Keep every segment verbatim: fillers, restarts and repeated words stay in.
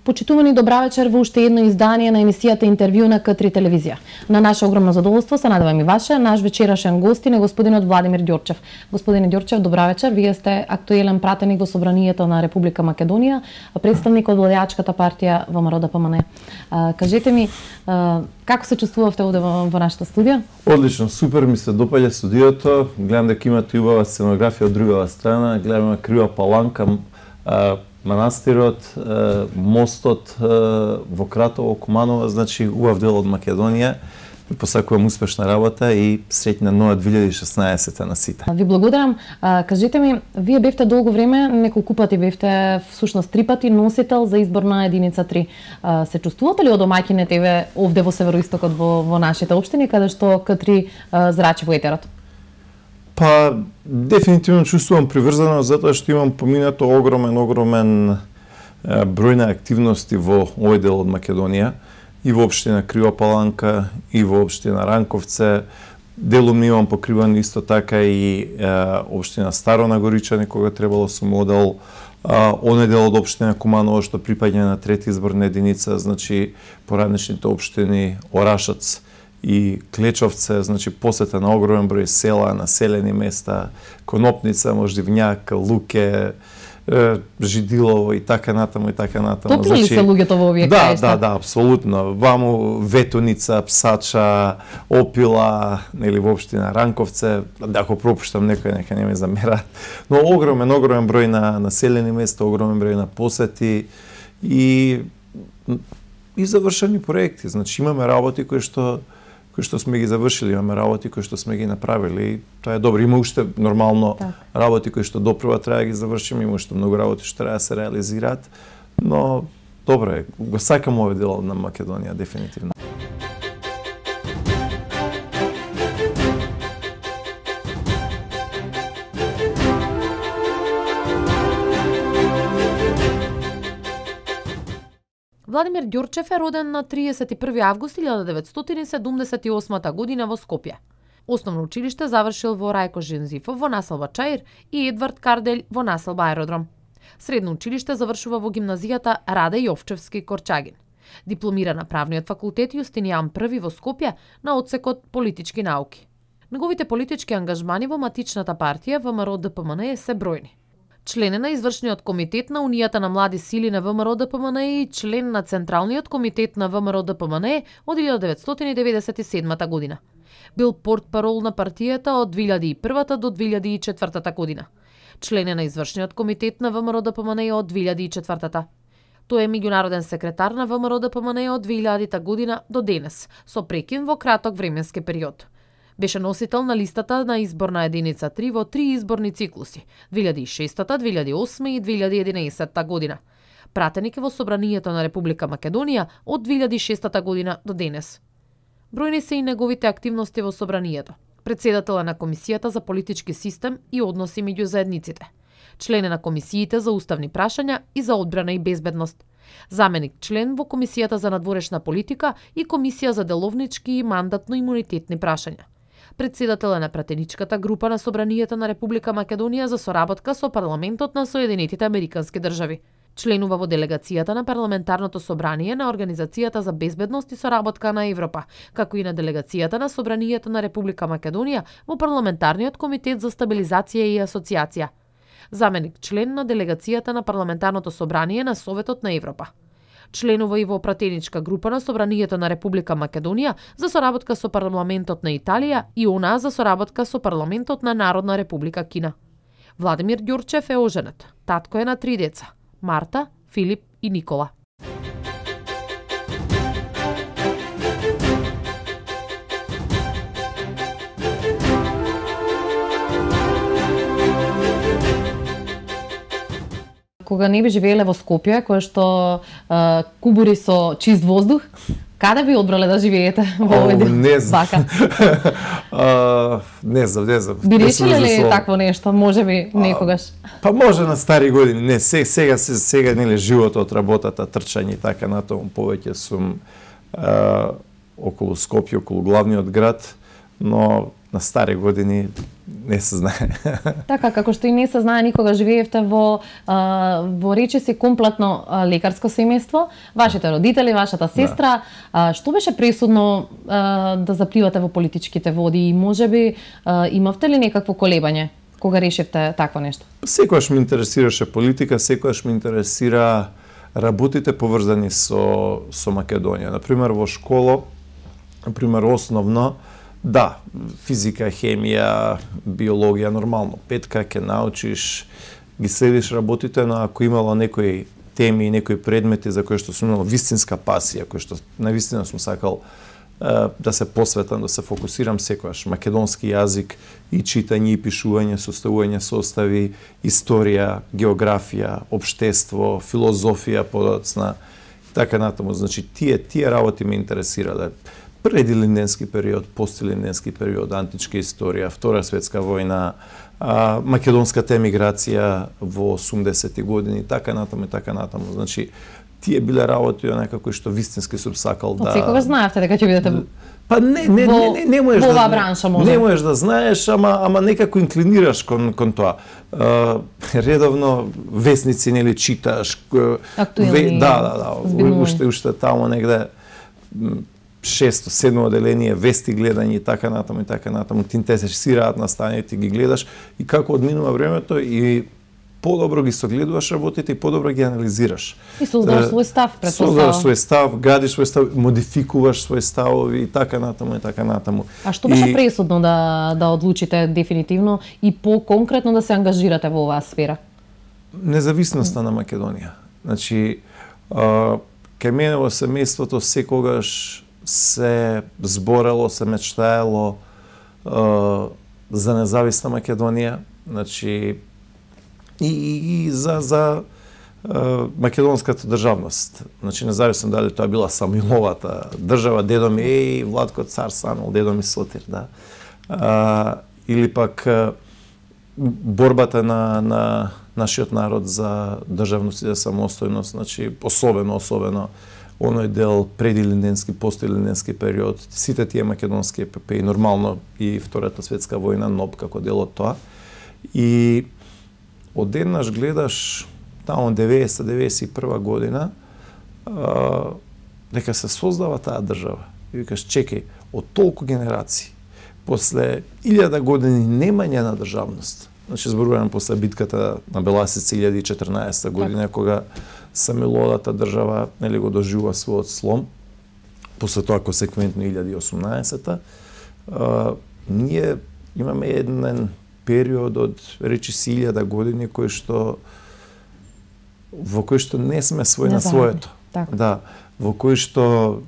Почитувани, добра вечер во уште едно издание на емисијата Интервју на К три телевизија. На наше огромно задоволство се надевам и ваше, наш вечерашен гостин е господинот Владимир Ѓурчев. Господине Ѓурчев, добра вечер. Вие сте актуелен пратеник во Собранието на Република Македонија, представник од владеачката партија ВМРО Д П М Н. Кажете ми, како се чувствувавте овде во, во нашата студија? Одлично, супер, ми се допаѓа студиото. Гледам дека имате убава сценографија од другава страна, гледам крива паланка, манастирот, мостот во Кратово, Куманово, значи убав дел од Македонија. Посакувам успешна работа и среќна нова две илјади и шеснаесетта на сите. Ви благодарам. Кажете ми, вие бевте долго време, неколку пати бевте, всушност три пати носител за избор на единица три. Се чувствувате ли одомаќине тебе овде во североистокот во, во нашите општини, каде што К три зрачи во етерот? Па, дефинитивно чувствувам приврзано, затоа што имам поминато огромен, огромен број на активности во овој дел од Македонија, и во општина Крива Паланка, и во општина Ранковце. Делумно имам покриван исто така и е, општина Старо Нагоричани, кога требало сум одел, оној дел од општина Куманово што припаѓа на трети изборна единица, значи поранешните општини Орашац и Клечовце, значи посета на огромен број села, населени места, Конопница, Мождивњак, Луке, Жидилово и така натаму и така натаму. Топли ли се луѓето во овие да, краишта? Да, да, апсолутно. Ваму Ветуница, Псача, Опила, нели во општина Ранковце, да ако пропуштам некој нека не ме замерат. Но огромен, огромен број на населени места, огромен број на посети и и завршени проекти. Значи имаме работи кои што кои што сме ги завршили, имаме работи кои што сме ги направили. Тоа е добро. Има уште нормално так. работи кои што допрва треба да ги завршиме, има уште многу работи што треба да се реализираат, но добро е. Го сакам овој дел на Македонија дефинитивно. Владимир Ѓурчев е роден на триесет и први август илјада деветстотини седумдесет и осма година во Скопје. Основно училиште завршил во Рајко Жензифов во населба Чаир и Едвард Карделј во населба Аеродром. Средно училиште завршува во гимназијата Раде Јовчевски Корчагин. Дипломира на правниот факултет Јустинијан први во Скопје на одсекот политички науки. Неговите политички ангажмани во матичната партија ВМРО Д П М Н се бројни. Член е на извршниот комитет на Унијата на млади сили на ВМРО Д П М Н и член на Централниот комитет на ВМРО Д П М Н од илјада деветстотини деветдесет и седма година. Бил портпарол на партијата од две илјади и прва до две илјади и четврта година. Член е на извршниот комитет на ВМРО Д П М Н од две илјади и четврта. Тој е меѓународен секретар на ВМРО Д П М Н од две илјадита година до денес, со прекин во краток временски период. Беше носител на листата на изборна единица три во три изборни циклуси две илјади и шеста, две илјади и осма и две илјади и единаесетта година. Пратеник е во Собранието на Република Македонија од две илјади и шеста година до денес. Бројни се и неговите активности во Собранието. Председател е на Комисијата за политички систем и односи меѓу заедниците. Член е на комисиите за уставни прашања и за одбрана и безбедност. Заменик член во Комисијата за надворешна политика и Комисија за деловнички и мандатно-имунитетни прашања. Председател е на пратеничката група на Собранието на Република Македонија за соработка со парламентот на Соединетите Американски држави. Членува во делегацијата на парламентарното собрание на Организацијата за безбедност и соработка на Европа, како и на делегацијата на Собранието на Република Македонија во парламентарниот комитет за стабилизација и асоциација. Заменик член на делегацијата на парламентарното собрание на Советот на Европа. Членува и во пратеничка група на Собранието на Република Македонија за соработка со парламентот на Италија и она за соработка со парламентот на Народна Република Кина. Владимир Ѓурчев е оженет. Татко е на три деца: Марта, Филип и Никола. Кога не би живееле во Скопје, кое што а, кубури со чист воздух, каде би одбрале да живеете во овој дел? Не знам. Бака? uh, не знам, не знам. Би решиле ли такво нешто, може би некогаш? Па може на стари години, не, сега сега, сега нели животот, работата, трчање и така натаму, повеќе сум uh, околу Скопје, околу главниот град, но на стари години не се знае. Така, како што и не се знае, никога живеевте во а, во речиси комплетно а, лекарско семејство, вашите родители, вашата сестра, да. а, што беше пресудно а, да запливате во политичките води и можеби а, имавте ли некакво колебање кога решивте такво нешто? Секогаш ме интересираше политика, секогаш ме интересира работите поврзани со со Македонија. Например во школа, например основно, да, физика, хемија, биологија нормално, петка ќе научиш, ги следиш работите, но ако имало некои теми и некои предмети за кои што сум имал вистинска пасија, кои што навистина сум сакал да се посветам, да се фокусирам секогаш. Македонски јазик и читање и пишување, составување состави, историја, географија, општество, филозофија подоцна, така натаму. Значи, тие, тие работи ме интересирале. Предилинденски период, постилинденски период, античка историја, Втора светска војна, а, македонската емиграција во осумдесетти години, така натаму и така натаму. Значи, тие биле работи некако што вистински сум сакал да... Од секогаш знаевте дека ќе бидете Па не, не, во, не, не, не можеш во оваа да, бранша, може. Не можеш да знаеш, ама ама некако инклинираш кон кон тоа. Uh, редовно весници нели читаш, актуелни, да, да, да, уште уште таму негде шесто, седмо оделение, вести гледање и така натаму и така натаму, ти интересираат настаните, ги гледаш и како одминува времето и подобро ги согледуваш работите и подобро ги анализираш. И создаваш свој став, претпоставам. Создаваш свој став, градиш свој став, модификуваш свој ставови и така натаму и така натаму. А што беше и... пресудно да да одлучите дефинитивно и по-конкретно да се ангажирате во оваа сфера? Независноста на Македонија. Значи, а, кај мене во семејството секогаш се зборело, се мечтаело а, за независна Македонија. Значи, и, и, и за, за а, македонската државност. Значи, независно дали тоа била Самуиловата држава, дедо ми е Владко цар Самуил, дедо ми Сотир, да. А, или пак а, борбата на, на нашиот народ за државност и за самостојност, значи, особено, особено, оној дел предилинденски, постилинденски период, сите тие македонски епопеи, нормално и Втората светска војна, НОБ како дел од тоа. И одеднаш гледаш таму деветдесет деветдесет и прва година а, дека се создава таа држава. И викаш, чекај, од толку генерации, после илјада години немање на државност, значи зборувам после битката на Беласица илјада и четрнаесетта година, так. Кога Самуиловата држава нели го доживува својот слом, после тоа консеквентно илјада и осумнаесетта, а, ние имаме еден период од речиси илјада години кој што во кој што не сме свој на своето. Так. Да, во кој што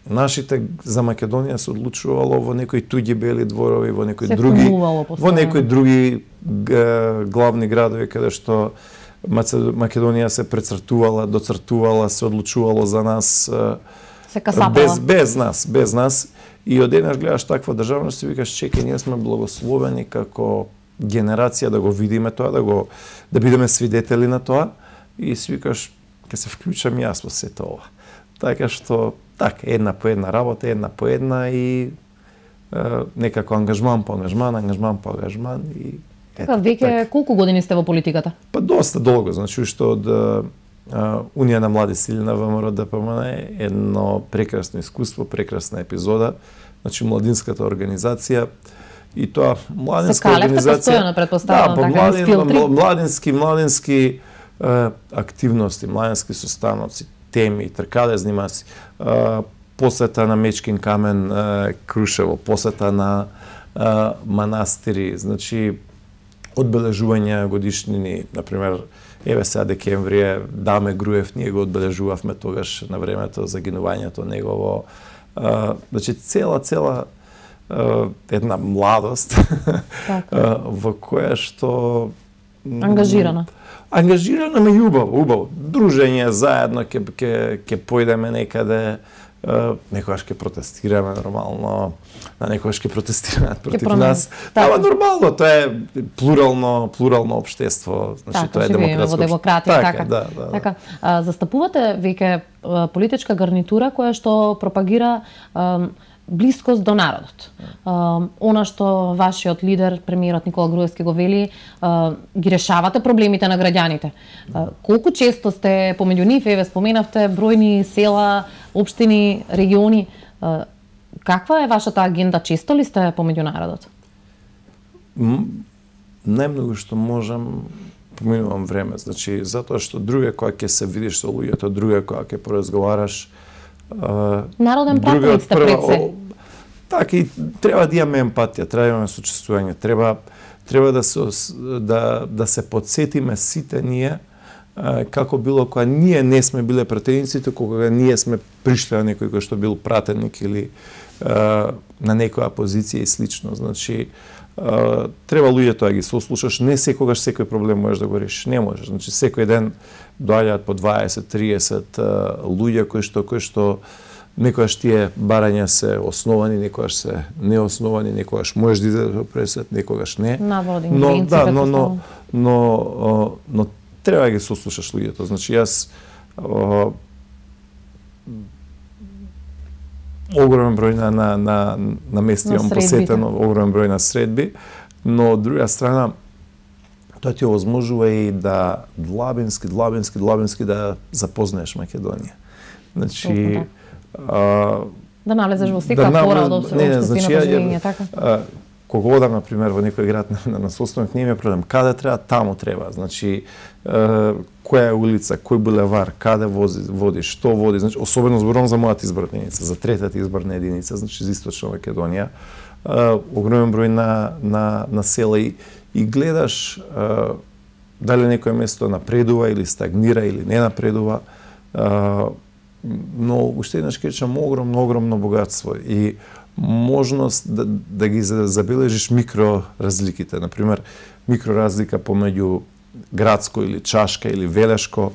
нашите за Македонија се одлучувало во некои туѓи бели дворови, во некои се други во некои други главни градови каде што Македонија се прецртувала, доцртувала, се одлучувало за нас се касапала. без без нас, без нас. И одеднаш гледаш таква државност и викаш, чекај, ние сме благословени како генерација да го видиме тоа, да го да бидеме свидетели на тоа и си викаш, ќе се вклучам јас во сето ова. Така што, така, една по една работа, една по една и е, некако ангажман по ангажман, ангажман по ангажман и Така, веќе колку години сте во политиката? Па доста долго, значи уште од а, Унија на млади сили на ВМРО Д П М Н е едно прекрасно искуство, прекрасна епизода, значи младинската организација и тоа младинска организација. Се постојано, претпоставувам, да, така, младин, филтри. Младински, младински е, активности, младински состаноци, теми, тркалезни маси, е, посета на Мечкин камен, е, Крушево, посета на е, манастири, значи одбележување годишнини, например, еве сега декември, Даме Груев, ние го одбележувавме тогаш на времето загинувањето негово. А, значи цела цела а, една младост а, во која што ангажирана. Ангажирана, ме убаво, убаво. Дружење заедно ќе ќе ќе појдеме некаде. Uh, некогаш ќе протестираме нормално, на некогаш ќе протестираат против нас. Ама нормално, тоа е плурално, плурално општество, значи така, тоа е демократско. Во демократија, така. така. Да, да, така. А, застапувате веќе политичка гарнитура која што пропагира а, блискост до народот. Uh, она што вашиот лидер, премиерот Никола Груевски го вели, uh, ги решавате проблемите на граѓаните. Uh, колку често сте помеѓу нив, еве споменавте бројни села, општини, региони, uh, каква е вашата агенда? Често ли сте помеѓу народот? Најмногу што можам, поминувам време, значи затоа што друго е кога ќе се видиш со луѓето, друго е кога ќе поразговараш. Народен пратеник сте пред се. Така и треба да имаме емпатија, треба да имаме сочувствување, треба треба да се да да се подсетиме сите ние како било кога ние не сме биле пратениците, кога ние сме пришли на некој кој што бил пратеник или на некоја позиција и слично. Значи треба луѓето да ги сослушаш, не секогаш секој проблем можеш да го решиш, не можеш. Значи секој ден доаѓаат по дваесет триесет луѓе кои што кои што некогаш тие барања се основани, некогаш се неосновани, некогаш можеш да излезеш пресвет, некогаш не. Но да, но но но но треба да ги сослушаш луѓето. Значи јас огромен број на на на на места имам посетено, огромен број на средби, но од друга страна тоа ти овозможува и да длабински, длабински, длабински да запознаеш Македонија. Значи а, да налезеш во секоја да пора од општествена живење, така? А, кога одам, например, во некој град на, на состанок, не ми е проблем. Каде треба, таму треба. Значи, а, која е улица, кој булевар, каде вози, води, што води. Значи, особено зборувам за мојата изборна единица, за третата изборна единица, значи за Источна Македонија. А, огромен број на, на, на села и, и гледаш а, дали некој место напредува или стагнира или не напредува. А, но уште еднаш кажам огромно, огромно богатство и можност да, да ги забележиш микро разликите. Например, микро разлика помеѓу градско или чашка или велешко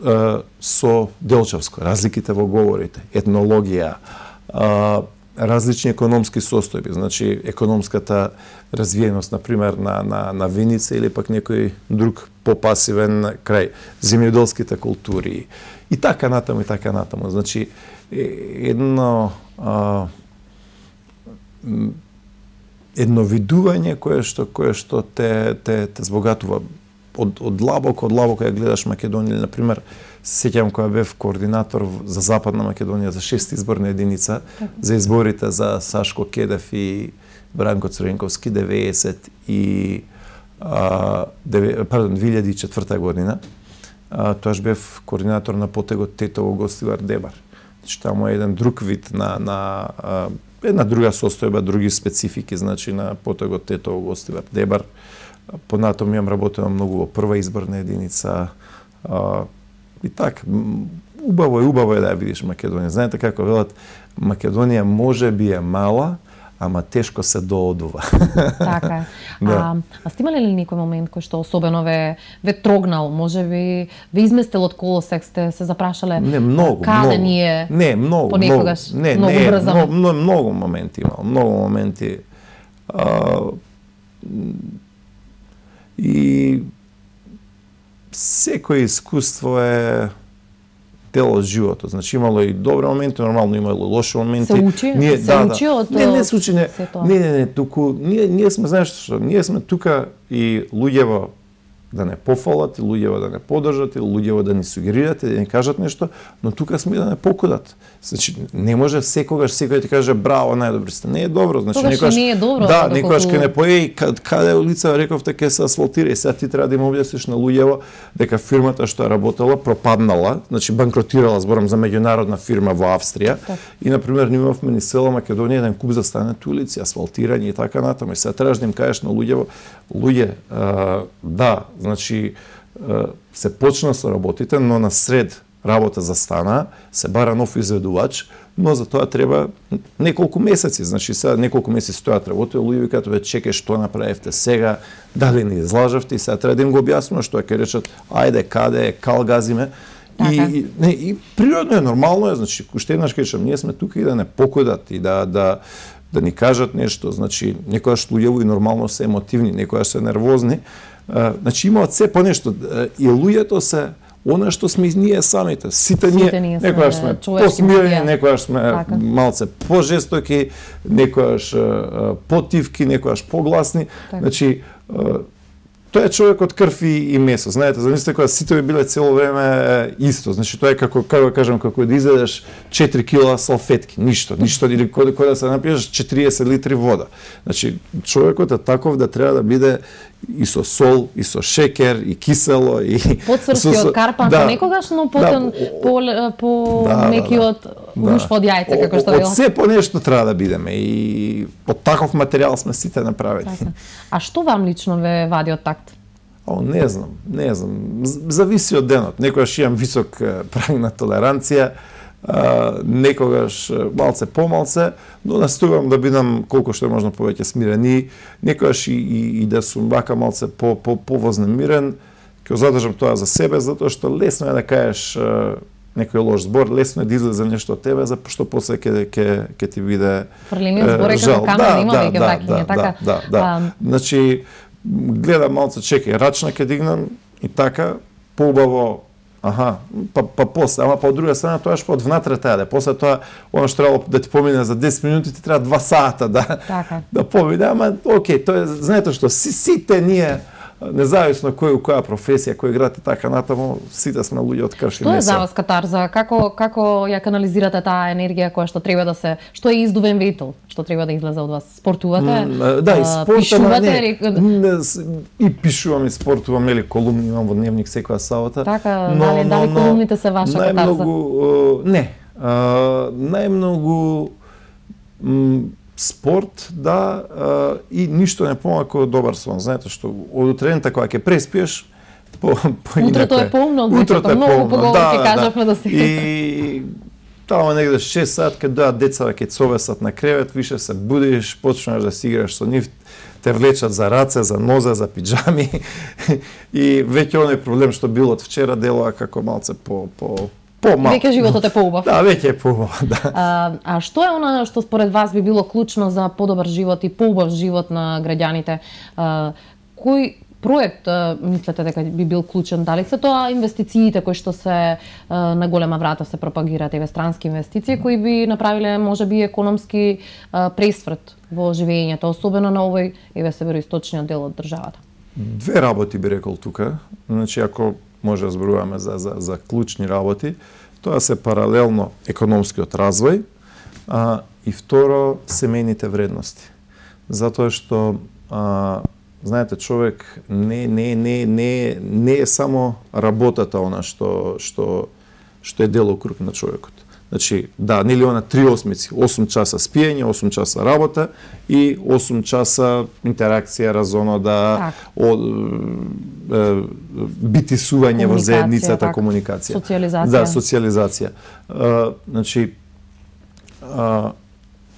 е, со делчевско. Разликите во говорите, етнологија, е, различни економски состојби, значи економската развиеност, например, на, на, на Виница или пак некој друг попасивен крај, земјоделските култури и така натаму и така натаму. Значи, едно а, едно видување кое што кое што те те те збогатува од од длабоко, од длабоко ја гледаш Македонија, например, сеќавам кога бев координатор за Западна Македонија за шеста изборна единица за изборите за Сашко Кедев и Бранко Црвенковски деветдесет и а, деве, пардон две илјади и четврта година. А, тоаш бев координатор на потегот Тетово Гостивар Дебар. Значи таму е еден друг вид на на а, една друга состојба, други специфики, значи на потегот Тетово Гостивар Дебар. Понатом имам работено многу во прва изборна единица. А, и така, убаво е, убаво е да ја видиш Македонија. Знаете како велат, Македонија може би е мала, ама тешко се доодува. Така е. Да. А, а сте имали ли некој момент кој што особено ве, ве трогнал, може би ве изместил од колосек, сте се запрашале не, многу, каде многу. ние не, многу, понекогаш многу, не, многу не, брзаме? Многу, многу моменти имал, многу моменти. А, и секој искуство е дел од животот. Значи имало и добри моменти, нормално имало и лоши моменти. Се учи? Ние, се да, учи од не, не се учи, не, не, не, не, туку, ние, ние сме, знаеш што, ние сме тука и луѓево да не пофалат, и луѓево да не поддржат, и луѓево да ни сугерират, и да ни кажат нешто, но тука сме да не покудат. Значи, не може секогаш секој ти каже браво, најдобри сте. Не е добро, значи Тогаш некогаш не е добро. Да, доколку... некогаш ке не поеј каде е улица, рековте ке се асфалтира и сега ти треба да им објасниш на луѓево дека фирмата што е работела пропаднала, значи банкротирала, зборам за меѓународна фирма во Австрија. Так. И на пример ние имавме низ села Македонија еден куп застанати улици, асфалтирање и така натаму. И сега требаш да им кажеш на луѓево, луѓе, а, да, значи а, се почна со работите, но на сред работа застана, се бара нов изведувач, но за тоа треба неколку месеци. Значи сега неколку месеци стојат работи, луѓе викаат ве чекај што направивте сега, дали не излажавте и сега треба да им го објаснувам што ќе речат ајде каде е, кал газиме. И, и, не, и природно е, нормално е, значи уште еднаш кажам, ние сме тука и да не покудат и да да да ни кажат нешто, значи некогаш луѓево и нормално се емотивни, некогаш се нервозни. А, значи имаат се по нешто и луѓето се она што сме ние самите. Сите, Сите ние, ние сме некојаш сме човечки посмирени, битија. некојаш сме Така. малце пожестоки, некојаш е, потивки, некојаш погласни. Така. Значи, е, тоа е човек од крв и, и месо. Знаете, замислете кога сите би биле цело време исто. Значи тоа е како како да кажам како да изедеш четири кила салфетки, ништо, ништо или кој кој да се напиеш четириесет литри вода. Значи човекот е таков да треба да биде и со сол, и со шекер, и кисело, и Подсрски од карпанка, да, некогаш, но потен да, по, по да, меки да, од рушпа од јајце, како што од велат. се по нешто треба да бидеме и од таков материјал сме сите направени. Така. А што вам лично ве вади од такт? О, не знам, не знам. З- Зависи од денот. Некогаш имам висок е, праг на толеранција, а, некогаш е, малце помалце, но настојувам да бидам колку што е можно повеќе смирен и некогаш и, и, и да сум вака малце по, по, повознемирен, ќе задржам тоа за себе, затоа што лесно е да кажеш е, некој лош збор, лесно е да излезе нешто од тебе, за што после ќе ќе ќе ти биде Фрлениот збор е жал. како камен, има веќе да, вакиња, да, така? Да, да, да. А, Значи, гледам малце, чекај, рачна ќе дигнам и така, поубаво, аха, па, па после, ама па од друга страна, тоа што од внатре тајде. После тоа, оно што требало да ти помине за десет минути, ти треба два сата да, Така. да помине, ама окей, тоа е, знаете што, си, сите ние, независно кој у која професија, кој град и така натаму, сите сме луѓе од крв и Што е месо. за вас катарза? Како како ја канализирате таа енергија која што треба да се, што е издувен ветел, што треба да излезе од вас? Спортувате? М, Да, и А, спортот, пишувате не, или- не, с- и пишувам и спортувам, или колумни имам во дневник секоја сабота. Така, дали- дали колумните се ваша катарза? Најмногу, е, не, а, најмногу м, спорт, да, а, и ништо не помака од добар сон. Знаете што, од утрената кога ќе преспиеш, по, по Утрото е поумно од вечерта, многу поголем ќе кажавме до сега. И таму негде шест сат кога доаат децата ќе совесат на кревет, више се будиш, почнаш да си играш со нив, те влечат за раце, за нозе, за пиджами и веќе оној проблем што бил од вчера делува како малце по по помал. Веќе животот е поубав. Да, веќе е поубав, да. А, а што е она што според вас би било клучно за подобар живот и поубав живот на граѓаните? А, кој проект а, мислите дека би бил клучен? Дали се тоа инвестициите кои што се а, на голема врата се пропагираат, еве странски инвестиции кои би направиле можеби економски а, пресврт во живењето, особено на овој еве североисточниот дел од државата? Две работи би рекол тука. Значи, ако може да зборуваме за, за, за клучни работи, тоа се паралелно економскиот развој, а, и второ, семејните вредности. Затоа што, а, знаете, човек не, не, не, не, не е само работата она што, што, што е делокруг на човекот. Значи, да, нели она три осмици, осум часа спиење, осум часа работа и осум часа интеракција, разонода, Так. о, е, битисување во Комуникација, заедницата, така. комуникација. Социјализација. Да, социјализација. А, значи, а,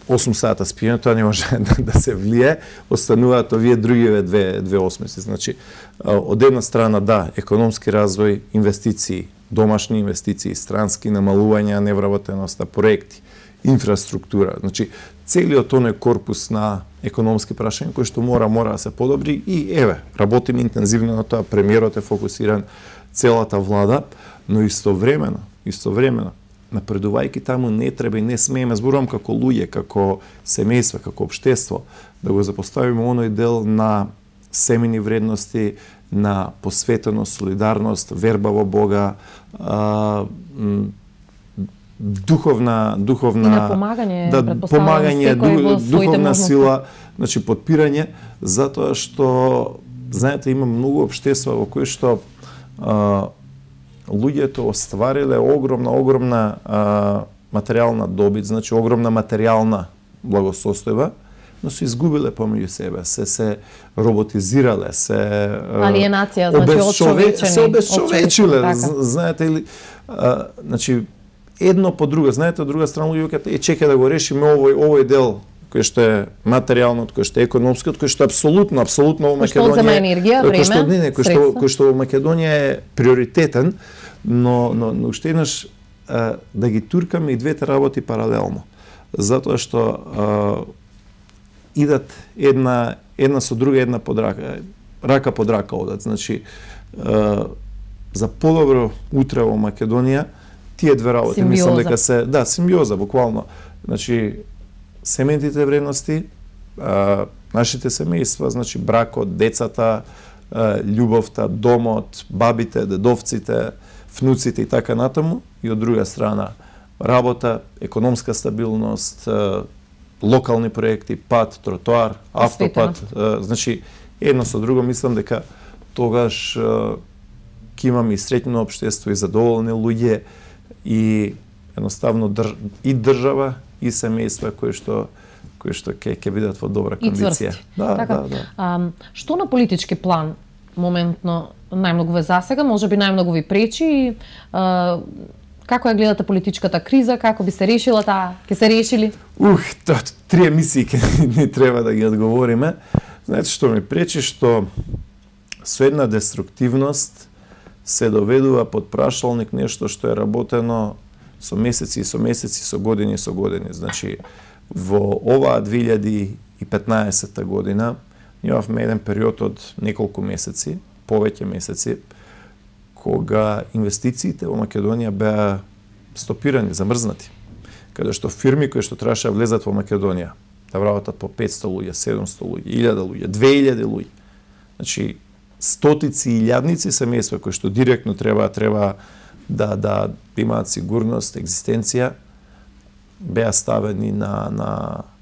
осум сата спиење, тоа не може да, да се влие, остануваат овие другиве две, две осмици. Значи, а, од една страна, да, економски развој, инвестиции, домашни инвестиции, странски, намалување на невработеноста, проекти, инфраструктура. Значи, целиот тој корпус на економски прашања кои што мора мора да се подобри и еве, работиме интензивно на тоа, премиерот е фокусиран, целата влада, но истовремено, истовремено напредувајќи таму не треба и не смееме, зборувам како луѓе, како семејства, како општество, да го запоставиме оној дел на семени вредности, на посветеност, солидарност, верба во Бога, а, м, духовна духовна И на помагање, да, претпоставувам, помагање, секој во ду, своите духовна можности. сила, значи подпирање, затоа што знаете има многу општества во кои што а, луѓето оствариле огромна огромна а, материјална добит, значи огромна материјална благосостојба, но се изгубиле помеѓу себе, се се роботизирале, се Алиенација, значи обесчове- отчовечени, се обесчовечиле, така. з- знаете или а, значи едно по друго, знаете, од друга страна луѓето кажат, е чекај да го решиме овој овој дел кој што е материјалниот, кој што е економскиот, кој што е апсолутно, апсолутно во Кој што Македонија. одзема енергија, кој што, време, не, не, кој што, средства. кој што во Македонија е приоритетен, но но но уште еднаш а, да ги туркаме и двете работи паралелно. Затоа што а, идат една една со друга, една под рака, рака под рака одат. Значи а, за подобро утре во Македонија, тие две работи Симбиоза. мислам дека се, да, симбиоза буквално. Значи семејните вредности, а, нашите семејства, значи бракот, децата, а, љубовта, домот, бабите, дедовците, внуците и така натаму, и од друга страна работа, економска стабилност, а, локални проекти, пат, тротоар, автопат, а, значи едно со друго мислам дека тогаш а, ќе имаме и среќно општество и задоволни луѓе и едноставно држ... и држава и семејства кои што кои што ќе ќе бидат во добра кондиција. Да, така, да, да. А, што на политички план моментно најмногу ве засега, можеби најмногу ви пречи и а, како ја гледате политичката криза, како би се решила таа, ќе се решили? Ух, тоа три емисии ќе ни треба да ги одговориме. Знаете што ми пречи, што со една деструктивност се доведува под прашалник нешто што е работено со месеци и со месеци, со години и со години. Значи, во оваа две илјади и петнаесетта година имавме еден период од неколку месеци, повеќе месеци, кога инвестициите во Македонија беа стопирани, замрзнати. Каде што фирми кои што требаше да влезат во Македонија, да вработат по петсто луѓе, седумсто луѓе, илјада луѓе, две илјади луѓе. Значи, стотици и илјадници семејства кои што директно треба треба да да имаат сигурност, екзистенција, беа ставени на на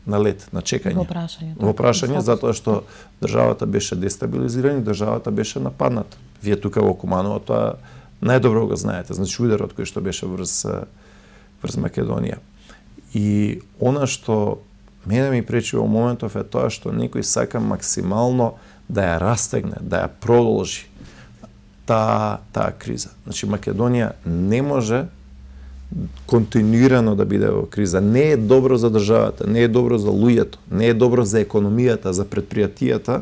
на лед, на чекање. Во прашање. Во прашање затоа што државата беше дестабилизирана, државата беше нападната. Вие тука во Куманово тоа најдобро го знаете, значи ударот кој што беше врз врз Македонија. И она што мене ми пречи во моментов е тоа што некој сака максимално да ја растегне, да ја продолжи таа таа криза. Значи Македонија не може континуирано да биде во криза. Не е добро за државата, не е добро за луѓето, не е добро за економијата, за предпријатијата,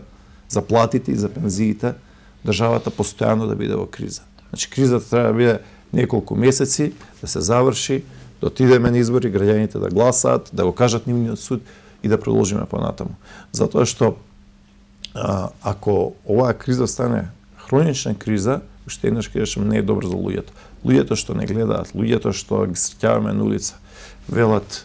за платите и за пензиите, државата постојано да биде во криза. Значи кризата треба да биде неколку месеци, да се заврши, да отидеме на избори, граѓаните да гласаат, да го кажат нивниот суд и да продолжиме понатаму. Затоа што а, ако оваа криза стане хронична криза, уште еднаш кажам, не е добро за луѓето. Луѓето што не гледаат, луѓето што ги среќаваме на улица, велат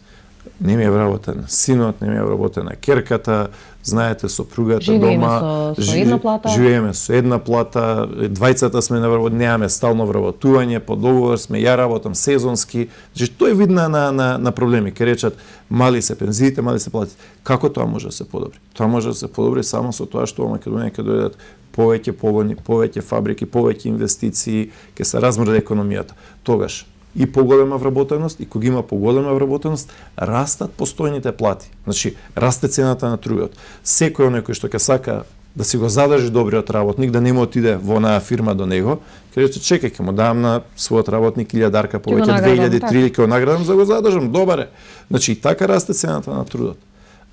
не ми е вработен синот, не ми е вработена керката, знаете, сопругата живееме дома, со, со една плата. Живееме со една плата, двајцата сме на вработување, немаме стално вработување, по договор сме, ја работам сезонски. Значи тој е видна на на на проблеми, ке речат мали се пензиите, мали се платите. Како тоа може да се подобри? Тоа може да се подобри само со тоа што во Македонија ќе дојдат повеќе погони, повеќе фабрики, повеќе инвестиции, ќе се размрде економијата. Тогаш и поголема вработеност, и кога има поголема вработеност, растат постојните плати. Значи, расте цената на трудот. Секој оној кој што ќе сака да си го задржи добриот работник, да не му отиде во онаа фирма до него, ќе рече, чекај, ќе му дам на својот работник илјадарка повеќе, две илјади, три илјади, ќе го наградам за да го задржам, добар е. Значи, и така расте цената на трудот.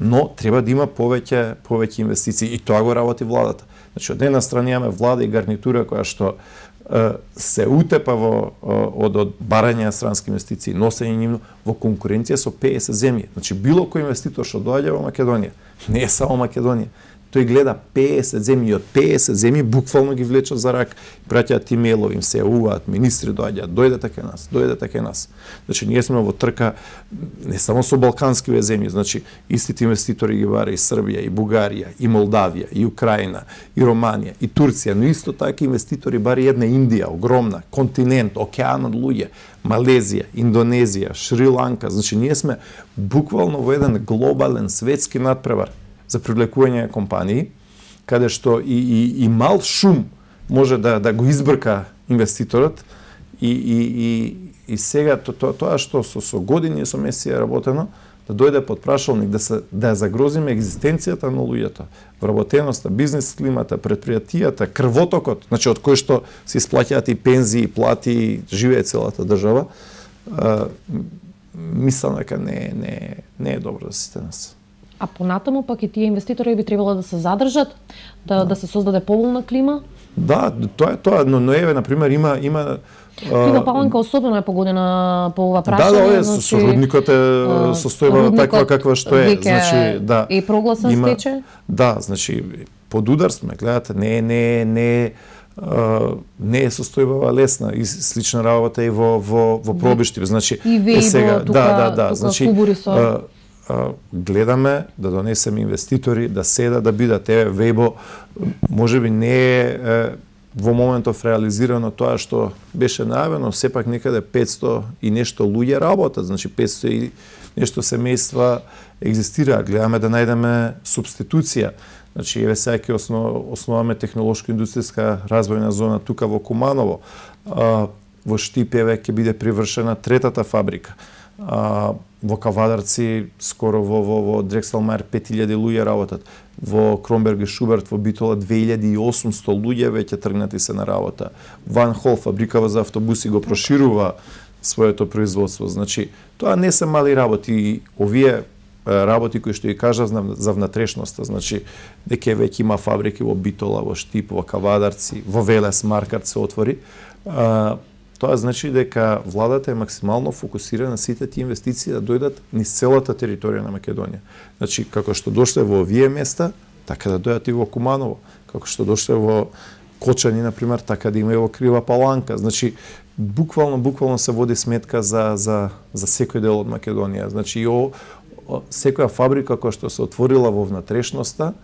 Но треба да има повеќе повеќе инвестиции и тоа го работи владата. Значи, од една страна имаме влада и гарнитура која што се утепа во од од барање на странски инвестиции, носење нивно во конкуренција со петдесет земји. Значи било кој инвеститор што доаѓа во Македонија, не е само Македонија. Тој гледа петдесет земји и од петдесет земји буквално ги влечат за рак, праќаат имејлови, им се јавуваат, министри доаѓаат, дојдете кај нас, дојдете кај нас. Значи ние сме во трка не само со балканскиве земји, значи истите инвеститори ги бара и Србија, и Бугарија, и Молдавија, и Украина, и Романија, и Турција, но исто така инвеститори бара и една Индија, огромна, континент, океан од луѓе, Малезија, Индонезија, Шри-Ланка, значи ние сме буквално во еден глобален светски надпревар за привлекување на компании, каде што и, и, и мал шум може да, да го избрка инвеститорот и, и, и, и сега то, то, тоа што со, со години со месеци е работено, да дојде под прашалник, да, се, да загрозиме екзистенцијата на луѓето, вработеноста, бизнес климата, предпријатијата, крвотокот, значи од кој што се исплаќаат и пензии, и плати, и живее целата држава, а, мислам дека не, не, не е добро за сите нас. А понатаму пак и тие инвеститори би требало да се задржат, да, да. да се создаде поволна клима? Да, тоа е тоа, но, но еве, например, има има Клима Паланка особено е погодена по ова прашање. Да, да, значи, со рудникот е состојба таква каква што е, значи, да. И прогласен има, стече? Да, значи под удар сме, гледате, не не не не е состојбава лесна и слична работа и во во во пробишти, значи и вејбо, е сега тука, да да да, тука значи со... а, а, гледаме да донесеме инвеститори да седат да бидат еве вејбо можеби не е, е во моментов реализирано тоа што беше најавено, сепак некаде петсто и нешто луѓе работат, значи петсто и нешто семејства екзистираат, гледаме да најдеме субституција. Значи, еве сега ќе основ, основаме технолошко-индустријска развојна зона тука во Куманово. А, во Штип еве ќе биде привршена третата фабрика. А, во Кавадарци скоро во во во Дрекселмајер пет илјади луѓе работат. Во Кромберг и Шуберт во Битола две илјади и осумсто луѓе веќе тргнати се на работа. Ван Хол фабрикава за автобуси го проширува своето производство. Значи, тоа не се мали работи. Овие работи кои што ја кажав за внатрешноста, значи дека веќе има фабрики во Битола, во Штип, во Кавадарци, во Велес Маркат се отвори. А, тоа значи дека владата е максимално фокусирана на сите тие инвестиции да дојдат низ целата територија на Македонија. Значи како што дошле во овие места, така да дојдат и во Куманово, како што дошле во Кочани на пример, така да има и во Крива Паланка. Значи буквално буквално се води сметка за за за секој дел од Македонија. Значи и о, секоја фабрика која што се отворила во внатрешноста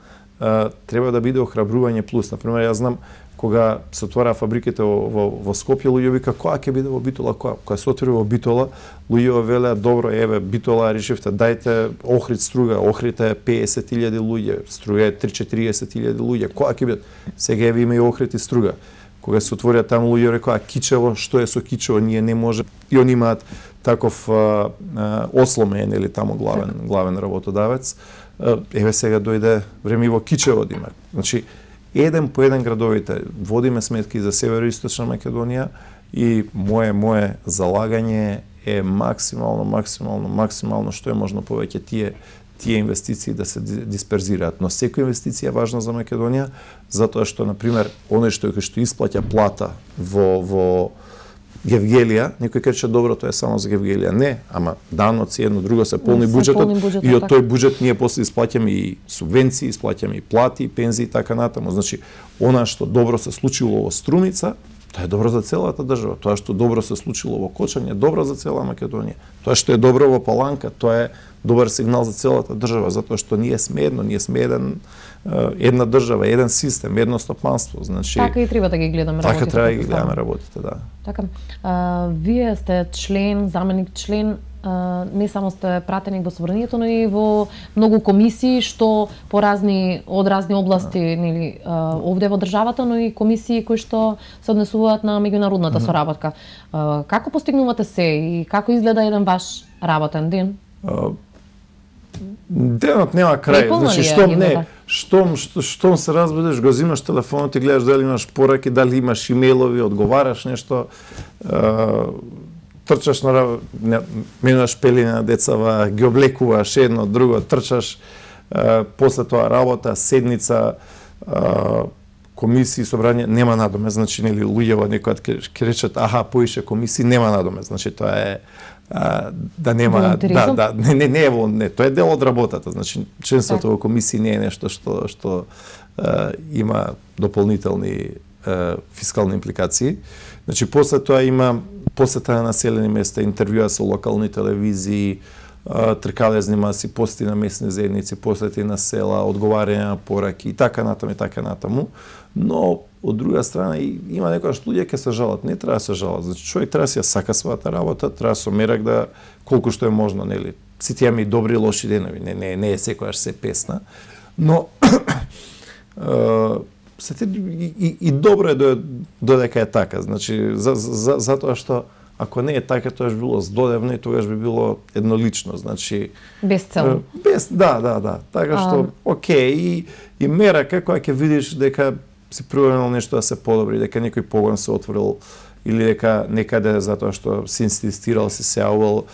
треба да биде охрабрување плюс. Например, јас знам кога се отвора фабриките во, во, во Скопје, луѓе вика која ќе биде во Битола, која? Кога се отвори во Битола, луѓе велеа добро, еве Битола решивте, дајте Охрид струга, Охрид е песет илјади луѓе, струга е три-четириесет илјади луѓе, која ќе биде? Сега еве има и Охрид и струга. Кога се отворија таму луѓе рекоа Кичево, што е со Кичево, ние не може. И они имаат таков а, а, осломен или таму главен главен работодавец. Еве сега дојде време и во Кичево да има. Значи еден по еден градовите водиме сметки за североисточна Македонија и мое мое залагање е максимално максимално максимално што е можно повеќе тие тие инвестиции да се дисперзираат. Но секоја инвестиција е важна за Македонија затоа што на пример оној што што исплаќа плата во во Гевгелија, некој каже добро тоа е само за Гевгелија. Не, ама даноци едно друго се полни буџетот буџет, и од тој буџет ние после исплаќаме и субвенции, исплаќаме и плати, пензии и така натаму. Значи, она што добро се случило во Струмица, тоа е добро за целата држава. Тоа што добро се случило во Кочани е добро за цела Македонија. Тоа што е добро во Паланка, тоа е добар сигнал за целата држава, затоа што ние сме едно, ние сме еден една држава, еден систем, едно стопанство, значи така и треба да ги гледаме така работите. Така треба да ги гледаме работите, да. Така. А, вие сте член, заменик член, а, не само сте пратеник во собранието, но и во многу комисии што по разни од разни области, нели, овде во државата, но и комисии кои што се однесуваат на меѓународната mm -hmm. соработка. А, како постигнувате се и како изгледа еден ваш работен ден? Uh, Денот нема крај, значи штом не, штом што, штом се разбудиш, го земаш телефонот и гледаш дали имаш пораки, дали имаш имејлови, одговараш нешто, uh, трчаш на менуваш пелина на децава, ги облекуваш едно, друго, трчаш, uh, после тоа работа, седница, uh, комисии, собрање, нема надоме, значи нели луѓето некојат ќе речат аха, поише комисии, нема надоме, значи тоа е а, да нема да да не не не е не, тоа е дел од работата, значи членството во комисии не е нешто што што а, има дополнителни а, фискални импликации. Значи после тоа има посета на населени места, интервјуа со локални телевизии, тркалезни маси, посети на местни заедници, посети на села, одговарање на пораки и така натаму и така натаму. Но од друга страна има некојаш луѓе ќе се жалат, не треба да се жалат. Значи човек треба да си ја сака својата работа, треба со мерак да колку што е можно, нели. Сите имаме и добри и лоши денови, не не не е секојаш се песна, но се и, и, и добро е додека е така, значи за, за, затоа што ако не е така, тоа би било здодевно и тогаш би било еднолично, значи без цел. Без да, да, да. Така што а... окей и и мерака кога ќе видиш дека си проверено нешто да се подобри, дека некој погон се отворил или дека некаде затоа што се инсистирал, се сеавал,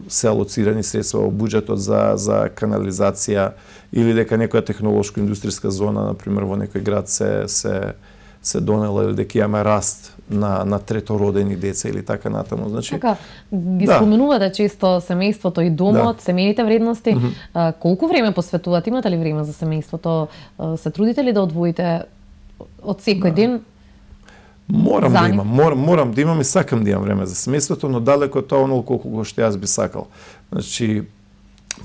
се алоцирани средства во буџетот за за канализација или дека некоја технолошко-индустријска зона, на пример во некој град се се се донела или дека имаме раст на на третородени деца или така натаму. Значи така ги да. Споменувате често семејството и домот, да. Семејните вредности. Mm -hmm. а, колку време посветувате? Имате ли време за семејството? А, се трудите ли да одвоите од секој да. ден Морам за да нив? имам, морам, морам да имам и сакам да имам време за семејството, но далеко од тоа онолку колку што јас би сакал. Значи,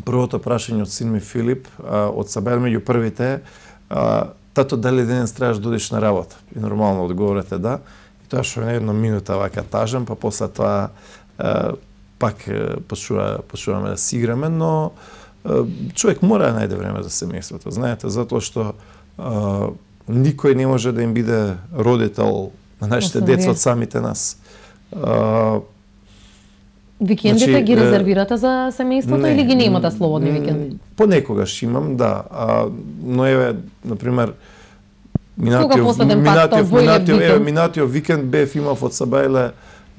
првото прашање од син ми Филип, а, од Сабајле меѓу првите, а, тато дали денес требаш да одиш на работа? И нормално одговорот е да. И тоа што е една минута вака тажам, па после тоа а, пак почува, почуваме да си играме, но а, човек мора да најде време за семејството, знаете, затоа што а, никој не може да им биде родител на нашите деца од самите нас. А, Викендите значи, ги резервирате за семејството не, или ги немате слободни викенди? Понекогаш имам, да. А, но еве, например, минатиот последен пат минатиот војлев минатиот еве викенд? минатиот викенд бев имав од Сабајле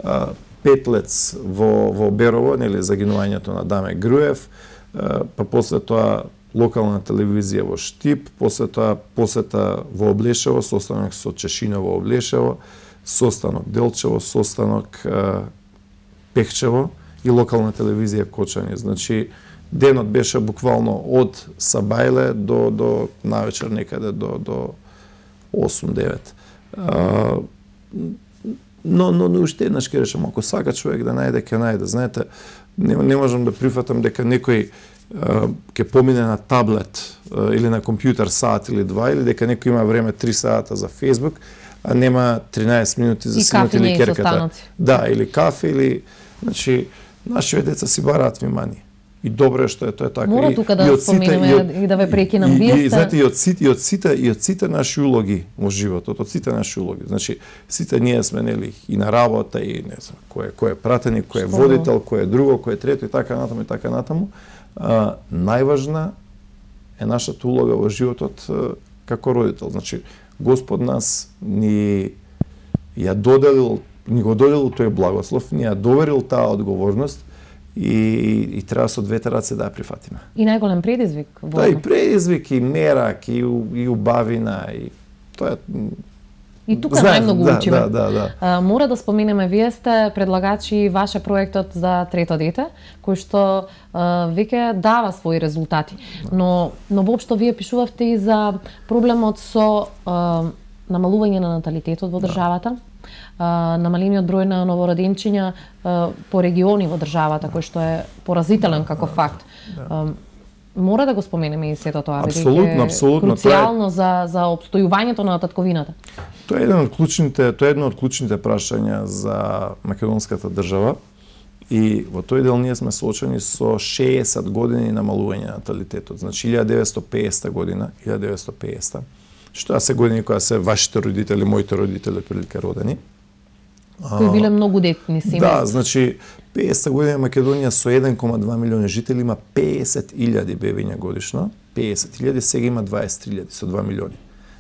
а, петлец во во Берово, нели загинувањето на Даме Груев, а, па после тоа локална телевизија во Штип, после тоа посета во Облешево, состанок со Чешино во Облешево, состанок Делчево, состанок а, Пехчево и локална телевизија Кочани. Значи, денот беше буквално од Сабајле до до навечер некаде до до осум-девет. А, но но но уште еднаш ќе речам, ако сака човек да најде, ќе најде. Знаете, не, не можам да прифатам дека некој ќе помине на таблет а, или на компјутер сат или два, или дека некој има време три сата за Facebook, а нема тринаесет минути за синот или керката. Да, или кафе, или... Значи, нашите деца си бараат внимание. И добро е што е тоа така. Мора тука да споменеме и, и да ве прекинам. И, Вие и, сте... знаете, и од сите, и од сите, и од сите наши улоги во животот, од сите наши улоги. Значи, сите ние сме, нели, и на работа, и не знам, кој е, кој е пратеник, кој е водител, кој е друго, кој е трето, и така натаму, и така натаму. А, најважна е нашата улога во животот а, како родител. Значи, Господ нас ни ја доделил, ни го доделил тој благослов, ни ја доверил таа одговорност и, и треба со двете раце да ја прифатиме. И најголем предизвик во... Да, и предизвик, и мерак, и, и убавина, и тоа е... И тука Знаем, најмногу да, учиме. Да, да, да. А, мора да споменеме, вие сте предлагачи ваше проектот за трето дете, кој што а, веќе дава своји резултати. Но, но воопшто вие пишувавте и за проблемот со а, намалување на наталитетот во државата, а, намалениот број на новороденчиња а, по региони во државата, кој што е поразителен како факт. А, мора да го споменеме и сето тоа, Апсолутно, апсолутно. Круцијално за за опстојувањето на татковината. Тоа е еден од клучните, тоа е едно од клучните прашања за македонската држава. И во тој дел ние сме соочени со шеесет години намалување на наталитетот. Значи илјада деветстотини и петдесета година, илјада деветстотини и петдесета, што се години која се вашите родители, моите родители прилика родени. Кои биле многу детни семејства. Да, значи петдесета година Македонија со еден кома два милиони жители има петдесет илјади бебиња годишно, петдесет илјади, сега има дваесет илјади со два милиони.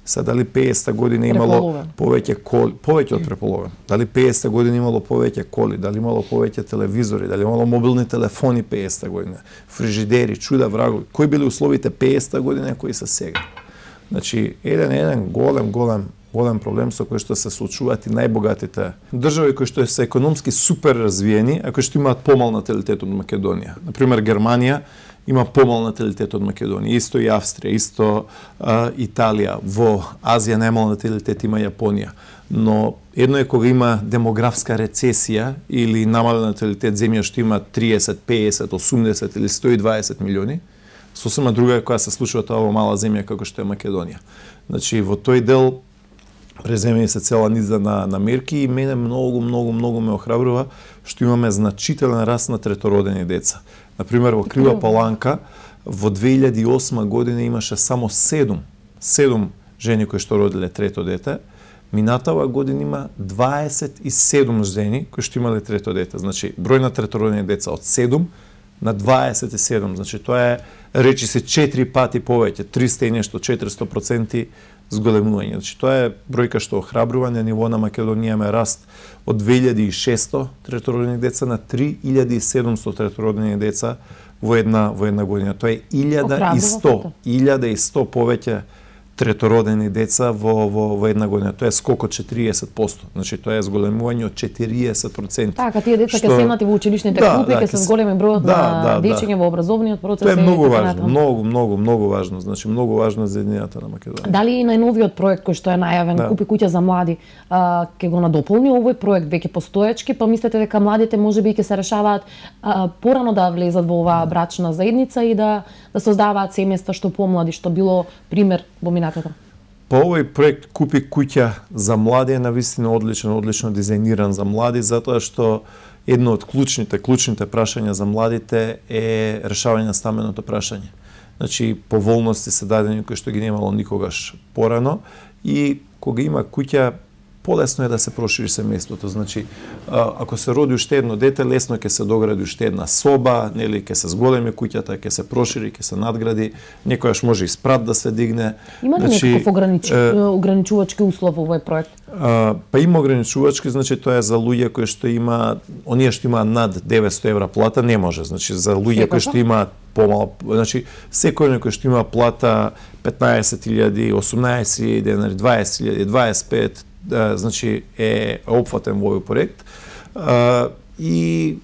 Сега дали петдесета година имало повеќе коли, повеќе од преполовен. Дали петдесета година имало повеќе коли, дали имало повеќе телевизори, дали имало мобилни телефони петдесета година, фрижидери, чуда врагови. Кои били условите петдесета година кои се сега? Значи, еден еден голем голем голем проблем со кој што се соочуваат и најбогатите држави кои што се економски супер развиени, а кои што имаат помал наталитет од Македонија. Например, Германија има помал наталитет од Македонија, исто и Австрија, исто а, Италија. Во Азија најмал наталитет има Јапонија. Но едно е кога има демографска рецесија или намален наталитет земја што има триесет, петдесет, осумдесет или сто и дваесет милиони, сосема друга е која се случува тоа во мала земја како што е Македонија. Значи, во тој дел преземени се цела низа на, на мерки и мене многу, многу, многу ме охрабрува што имаме значителен раст на третородени деца. Например, во Крива Паланка во две илјади и осма година имаше само седум, седум жени кои што родиле трето дете. Минатава година има дваесет и седум жени кои што имале трето дете. Значи, број на третородени деца од седум на дваесет и седум. Значи, тоа е, речи се, четири пати повеќе, триста и нешто, четиристо проценти зголемување. Значи, тоа е бројка што охрабрува. На ниво на Македонија имаме раст од две илјади и шесто третородени деца на три илјади и седумсто третородени деца во една во една година. Тоа е илјада и сто, илјада и сто повеќе третородени деца во, во, во една година. Тоа е скок од четириесет проценти. Значи, тоа е зголемување од четириесет проценти. Така, тие деца ќе што... седнати во училишните да, клупи, да, ќе се зголеми бројот да, на да, дечиња да. во образовниот процес. Тоа е многу важно, натаму. многу, многу, многу важно. Значи, многу важно за единината на Македонија. Дали и најновиот проект кој што е најавен, да. Купи куќа за млади, а, ќе го надополни овој проект веќе постоечки, па мислите дека младите можеби ќе се решаваат а, порано да влезат во оваа брачна заедница и да да создаваат семејства што помлади, што било пример во минатото? Па овој проект Купи куќа за млади е навистина одличен, одлично дизајниран за млади, затоа што едно од клучните, клучните прашања за младите е решавање на стамбеното прашање. Значи, поволности се дадени кои што ги немало никогаш порано и кога има куќа, полесно е да се прошири семејството. Значи, ако се роди уште едно дете, лесно ќе се догради уште една соба, нели, ќе се зголеми куќата, ќе се прошири, ќе се надгради, некојаш може и спрат да се дигне. Има ли значи, некаков огранич... е... ограничувачки услов во овој проект? А, па има ограничувачки, значи тоа е за луѓе кои што има, оние што има над деветсто евра плата не може. Значи за луѓе кои што имаат помало, значи секој кој што има плата петнаесет илјади, осумнаесет илјади денари, дваесет илјади, дваесет и пет, да, значи е опфатен во овој проект. А, и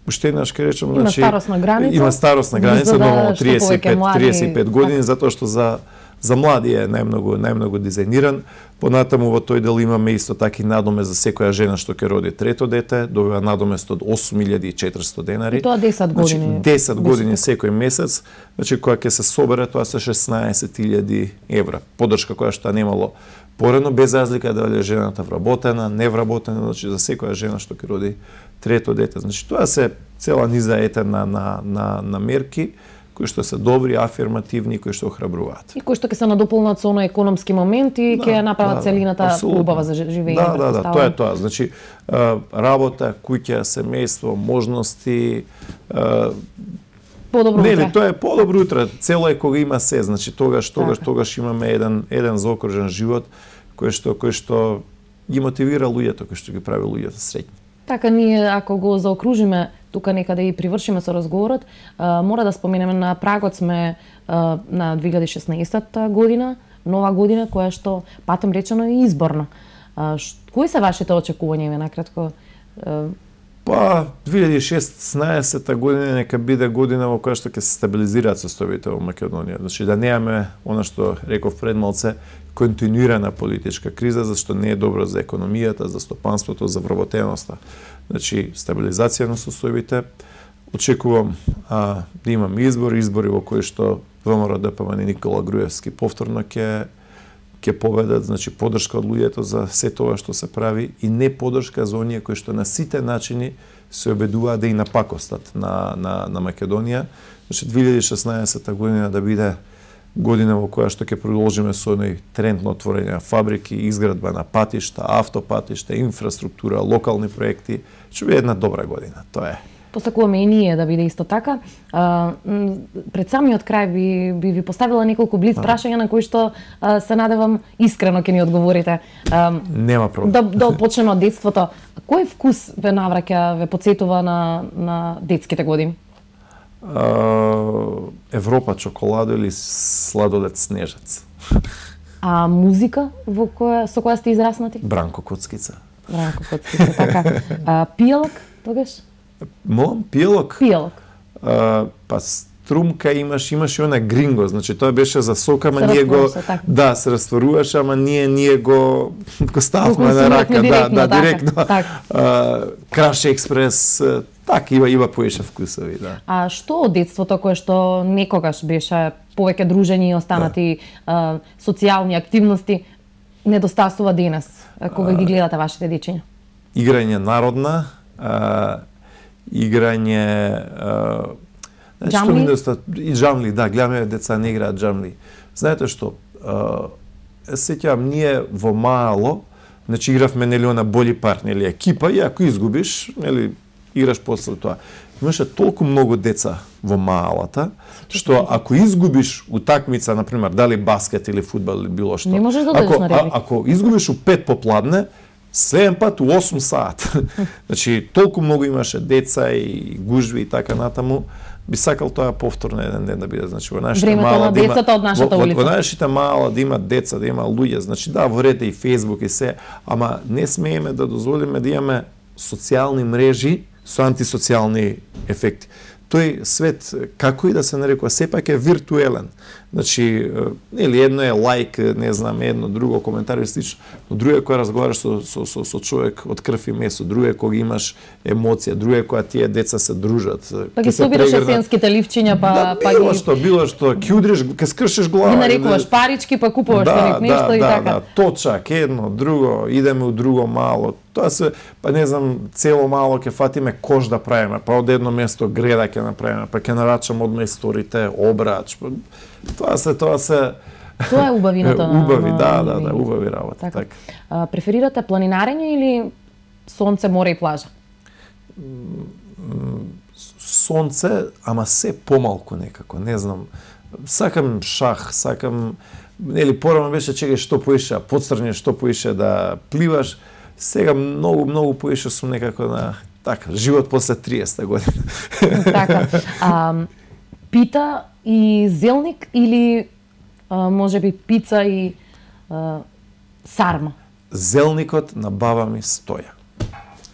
уште еднаш ќе речам, има значи старосна граница. Има старосна граница, но триесет и пет, млади... триесет и пет години, затоа што за за млади е најмногу најмногу дизајниран. Понатаму во тој дел имаме исто така и надомест за секоја жена што ќе роди трето дете, добива надомест од осум илјади и четиристо денари. И тоа десет години. Значи, десет години секој месец, значи кога ќе се собере тоа се шеснаесет илјади евра. Поддршка која што немало порано, без разлика дали е жената вработена, невработена, значи за секоја жена што ќе роди трето дете. Значи тоа се цела низа ете на на на на мерки кои што се добри, афирмативни, кои што охрабруваат. И кои што ќе се надополнат со оној економски момент и ќе да, направат да, целината убава за живење. Да, да, да, тоа е тоа. Значи, работа, куќа, семејство, можности, подобро утре. Нели, тоа е подобро утре. Цело е кога има се, значи тогаш, тогаш, така. тогаш имаме еден еден заокружен живот кој што кој што ги мотивира луѓето, кој што ги прави луѓето среќни. Така, ние ако го заокружиме тука некаде и привршиме со разговорот, а, мора да споменеме на прагот сме а, на две илјади и шеснаесетта година, нова година која што патем речено е изборна. А, ш, кои се вашите очекувања, накратко? А... Па, две илјади и шеснаесетта година нека биде година во која што ќе се стабилизираат состојбите во Македонија. Значи да немаме она што реков пред малце, континуирана политичка криза, зашто не е добро за економијата, за стопанството, за вработеноста. Значи, стабилизација на состојбите. Очекувам а, да имам избори, избори во кои што ВМРО-ДПМН и Никола Груевски повторно ќе ќе победат, значи поддршка од луѓето за се тоа што се прави и не поддршка за оние кои што на сите начини се обидуваат да и напакостат на на на Македонија. Значи две илјади и шеснаесетта година да биде година во која што ќе продолжиме со оној тренд на отворање на фабрики, изградба на патишта, автопатишта, инфраструктура, локални проекти. Ќе биде една добра година, тоа е. Посакуваме и ние да биде исто така. А, пред самиот крај би, би ви поставила неколку блиц прашања на кои што а, се надевам искрено ќе ни одговорите. А, Нема проблем. Да, да почнеме од детството. Кој вкус ве навраќа, ве потсетува на, на детските години? Uh, Европа чоколадо или сладолед снежец. А музика во која со која сте израснати? Бранко Коцкица. Бранко Коцкица, така. А, пијалок, тогаш? Молам, пијалок? Пијалок. Uh, па струмка имаш, имаш и она гринго, значи тоа беше за сока, ама ние го така. Да, се растворуваше, ама ние ние го го ставме на рака, да, да, директно. Така. Uh, Краш Експрес, така има има поише вкусови, да. А што од детството кое што некогаш беше повеќе дружење и останати да. а, социјални активности недостасува денес кога а, ги гледате вашите дечиња? Играње народна, а, играње а, джамли? И джамли, да, гледаме деца не играат джамли. Знаете што, а, сеќавам ние во мало, значи игравме нели она боли пар, нели екипа и ако изгубиш, нели играш после тоа. Имаше толку многу деца во малата, што ако изгубиш утакмица, например, дали баскет или фудбал или било што, не можеш да ако, на ребри. а, ако изгубиш у пет попладне, следен пат у осум саат. Значи, толку многу имаше деца и гужви и така натаму, би сакал тоа повторно еден ден да биде, значи во нашата Времето мала на да има, децата од нашата во, улица. Во, во нашите мала да има деца, да има луѓе, значи да, во ред и Facebook и се, ама не смееме да дозволиме да имаме социјални мрежи со антисоцијални ефекти. Тој свет, како и да се нарекува, сепак е виртуелен. Значи, или едно е лайк, не знам, едно, друго, коментар и слично, но друго е кога разговараш со, со, со, со човек од крв и месо, друго е кога имаш емоција, друго е кога тие деца се дружат. Па ги собираш есенските ливчиња, па, да, па било ги... што, било што, ќе удриш, ќе скршиш глава. Ги нарекуваш парички, па купуваш да, да, нешто да, и да, така. Да, точак, едно, друго, идеме у друго мало. Тоа се, па не знам, цело мало ќе фатиме кош да правиме, па од едно место греда ќе направиме, па ќе нарачам одма историте, обрач. Па, тоа се, тоа се Тоа е убавината на убави, на, да, на, да, да, убави работа, така. така. А, преферирате планинарење или сонце, море и плажа? Сонце, ама се помалку некако, не знам. Сакам шах, сакам, нели порано беше чекај што поише, подстрани што поише да пливаш. Сега многу многу поише сум некако на така, живот после триесета година. Така. А, пита и зелник или а, може би пица и а, сарма? Зелникот на баба ми стоја.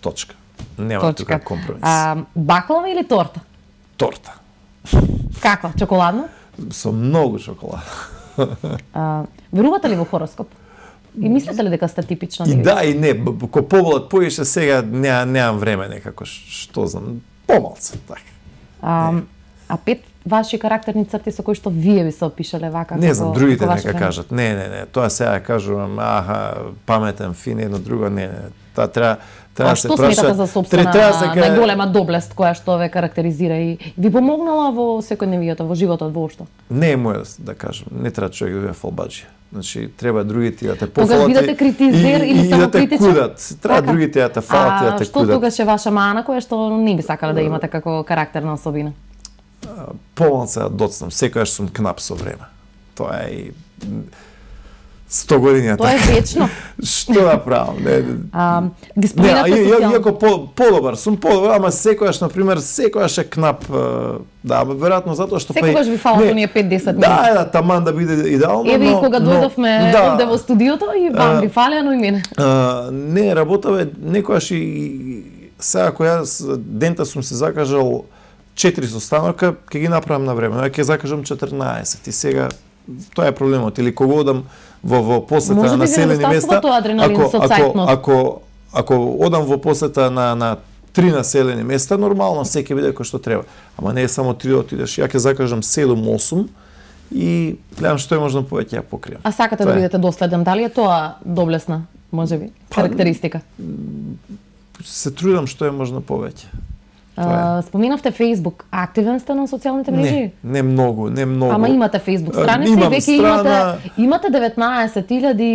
Точка. Нема тука компромис. А, баклава или торта? Торта. Каква? Чоколадна? Со многу чоколада. А, верувате ли во хороскоп? И мислите ли дека сте типична И девица? да, и не. Ко поболат поише, сега не, немам време некако, што знам, помалце, така. А, а пет ваши карактерни црти со кои што вие би се опишале вака? Не знам, како, другите како ваше нека време? кажат. Не, не, не, тоа сега кажувам, аха, паметен, фин, едно друго, не, не. Таа треба треба А да се што праша. сметате за собствена треба да се ка- најголема доблест која што ве карактеризира и ви помогнала во секојдневието, во животот воопшто? Не е моја да кажам, не треба човек да биде фалбаџија. Значи треба другите да те Тогаш пофалат бидете критизер и, или и, и само да те критичен? кудат. Треба Така. другите да те фалат и да А те што кудат. тогаш е ваша мана која што не би сакале да имате како карактерна особина? Помалце да доцнам, секогаш сум кнап со време. Тоа е и сто години Тоа е така. вечно. Што да правам? Не, А, ги не, споменавте а, ја- социјално. иако по, подобар, сум подобар, ама секогаш, на пример, секогаш е кнап, е, да, веројатно затоа што Секогаш ви фалат оние пет-десет минути. Да, е, да, таман да биде идеално, Еве и но- кога но- дојдовме да, овде во студиото и вам А, ви фалеа, но и мене. А, не, работава некојаш и сега која јас дента сум се закажал четири состанока, ќе ги направам на време. Ја ќе закажам четрнаесет и сега тоа е проблемот. Или кога одам во во посета Може на би ви населени недостасува места, тоа адреналин ако со ако цајтнот. ако ако одам во посета на на три населени места, нормално се ќе биде кој што треба. Ама не е само три да отидеш. Ја ќе закажам седум-осум и гледам што е можно повеќе ја покријам. А сакате Тоа да е. бидете доследен, дали е тоа доблесна, може би, Па, карактеристика? Се трудам што е можно повеќе. А, споменавте Facebook, активен сте на социјалните мрежи? Не, не многу, не многу. Ама имате Facebook А, страница и имам веќе страна- имате имате деветнаесет илјади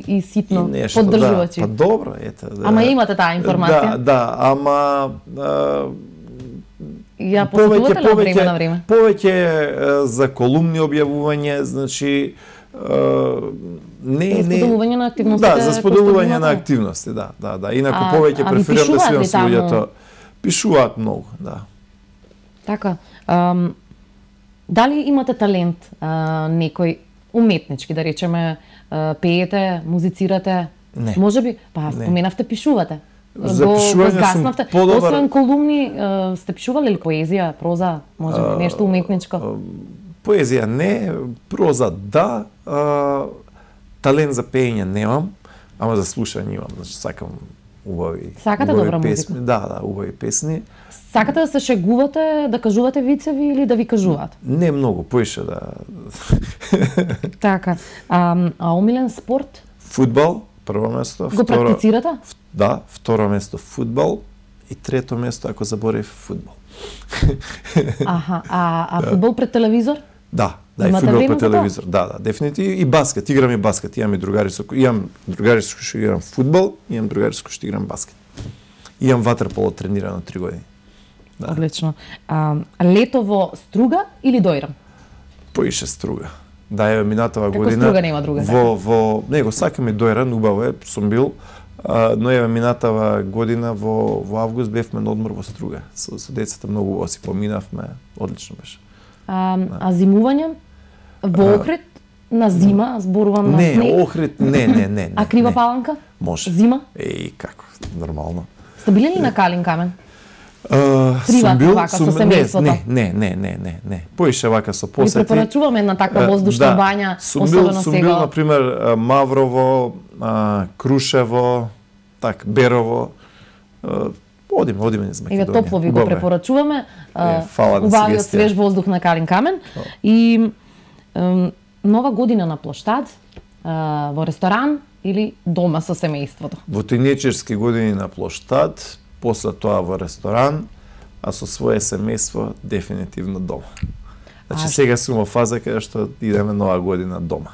и ситно И нешто, поддржувачи. Да, па добро, ете. Да. Ама имате таа информација? Да, да, ама а, Ја посетувате ли од време на време? повеќе е, за колумни објавување, значи е, не За не споделување на активностите Да, за кои што споделување имате? на активности, да, да, да. Инаку А- повеќе а ви преферирам да пишуваат свирам ли со таму? луѓето. Пишуваат многу, да. Така. Ам, дали имате талент а, некој уметнички, да речеме, а, пеете, музицирате? Не. Може би, па Не. споменавте пишувате. За Го- го пишување сум згаснавте. подобар. Освен колумни, а, сте пишували ли поезија, проза, може би, нешто уметничко? Поезија не, проза да, а, талент за пеење немам, ама за слушање имам, значи сакам убави. Сакате убави добра песни. музика? Да, да, убави песни. Сакате да се шегувате, да кажувате вицеви или да ви кажуваат? Не многу, поише да. Така. А, а омилен спорт? Фудбал, прво место, Го практицирате? Да, второ место фудбал и трето место ако заборев фудбал. Аха, а, а фудбал пред телевизор? Да, да, и Имате фудбал време по за тоа? телевизор. Да, да, дефинитивно и баскет, играм и баскет. Имам и другари со кои имам другари со кои што играм фудбал, имам другари со кои што играм баскет. Имам ватерполо тренирано три години. Да. Одлично. А, лето во Струга или Дојрам? Поише Струга. Да, еве минатава Како година. Струга нема друга, Во во него сакам и Дојран, убаво е, сум бил, А, но еве минатава година во во август бевме на одмор во Струга. Со, со децата многу го си поминавме, одлично беше. А, а зимување во Охрид на зима, зборувам на не, снег. Не, Охрид, не, не, не, не. А Крива не. Паланка? Може. Зима? Еј, како, нормално. Сте биле ли на Калин камен? Uh, Приватно бил, вака, сум, со семејството? Не, не, не, не, не, не. Поише вака со Ви посети. препорачуваме една таква воздушна да. бања, Сум особено бил, сум сега. бил, например, Маврово, а, Крушево, так, Берово. А, одиме, одиме низ Македонија. Еве топло ви го препорачуваме. Е, фала на убавиот сугестија. свеж воздух на Калин камен. И ем, нова година на плоштад, а, во ресторан или дома со семејството? Во тинејџерски години на плоштад, после тоа во ресторан, а со свое семејство дефинитивно дома. Значи А... сега сум во фаза каде што идеме нова година дома.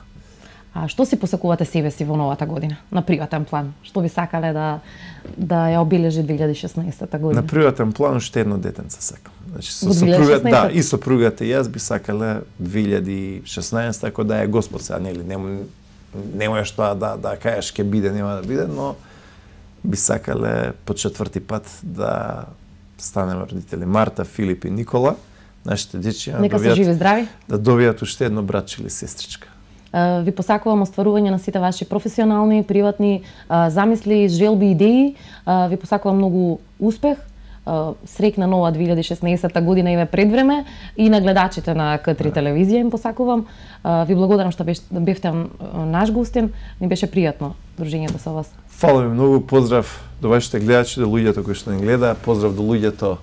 А што си посакувате себе си во новата година, на приватен план? Што би сакале да да ја обележи две илјади и шеснаесета година? На приватен план уште едно детенце сакам. Значи со Во две илјади и сопругата, да, шеснаесета? и сопругата и јас би сакале две илјади и шеснаесета, ако да е Господ сега, нели, нема нема што да да кажеш ќе биде, нема да биде, но би сакале по четврти пат да станеме родители. Марта, Филип и Никола, нашите дечиња, Нека се живи здрави. да добијат уште едно братче или сестричка. А, Ви посакувам остварување на сите ваши професионални, приватни а, замисли, желби, идеи. А, Ви посакувам многу успех. А, Среќна нова две илјади и шеснаесета година и ве пред време и на гледачите на К три телевизија им посакувам. А, Ви благодарам што беше, бевте наш гостин. Ми беше пријатно дружењето со вас. Фала ви многу, поздрав до вашите гледачи, до луѓето кои што не гледа, поздрав до луѓето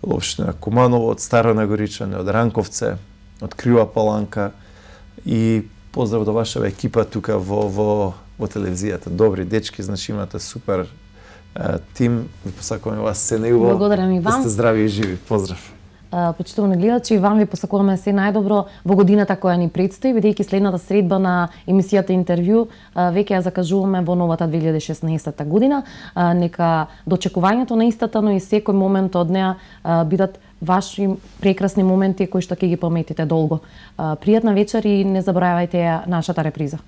од општина Куманово, од Старо Нагоричане, од Ранковце, од Крива Паланка и поздрав до вашава екипа тука во во во телевизијата. Добри дечки, значи имате супер е, тим. Ви посакуваме вас се најубаво. Благодарам и вам. Да сте здрави и живи. Поздрав. Почитувани гледачи, и вам ви посакуваме се најдобро во годината која ни предстои, бидејќи следната средба на емисијата Интервју веќе ја закажуваме во новата две илјади и шеснаесета година. Нека дочекувањето на истата, но и секој момент од неа бидат ваши прекрасни моменти кои што ќе ги паметите долго. Пријатна вечер и не заборавајте ја нашата реприза.